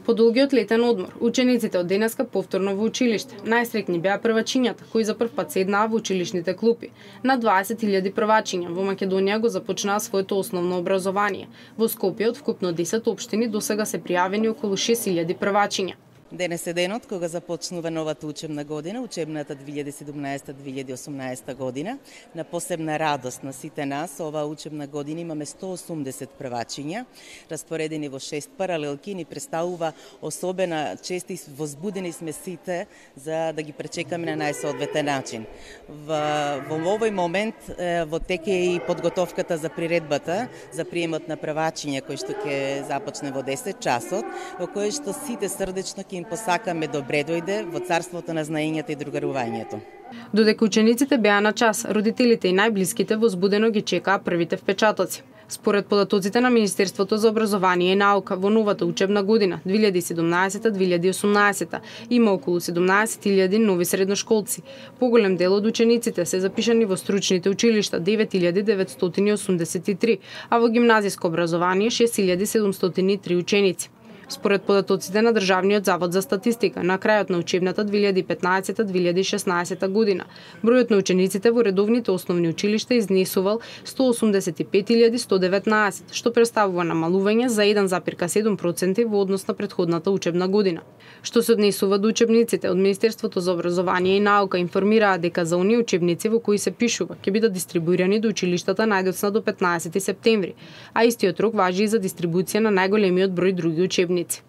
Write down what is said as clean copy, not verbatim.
По долгиот летен одмор, учениците од денеска повторно во училиште. Најсреќни беа првачињата, кои за прв пат седнаа во училишните клупи. На 20.000 првачиња во Македонија го започнаа своето основно образование. Во Скопје од вкупно 10 општини досега се пријавени околу 6.000 првачиња. Денес е денот кога започнува новата учебна година, учебната 2017-2018 година. На посебна радост на сите нас, оваа учебна година имаме 180 првачиња, распоредени во 6 паралелки, ни представува особена чест и возбудени сме сите за да ги пречекаме на најсоодветен начин. Во овој момент во тек е и подготовката за приредбата за приемот на првачиња кој што ќе започне во 10 часот, во кој што сите срдечно ќе им посакаме добре дојде во царството на знаењето и другарувањето. Додека учениците беа на час, родителите и најблиските возбудено ги чекаа првите впечатоци. Според податоците на Министерството за образование и наука, во новата учебна година 2017-2018 има околу 17.000 нови средношколци. Поголем дел од учениците се запишани во стручните училишта 9.983, а во гимназиско образование 6.703 ученици. Според податоците на Државниот завод за статистика, на крајот на учебната 2015-2016 година, бројот на учениците во редовните основни училишта изнесувал 185.119, што представува намалување за 1,7% во однос на претходната учебна година. Што се однесува до учебниците, од Министерството за образование и наука информираа дека за оние учебници во кои се пишува ќе бидат дистрибуирани до училиштата најдоцна до 15 септември, а истиот рок важи и за дистрибуција на најголемиот број други учебници.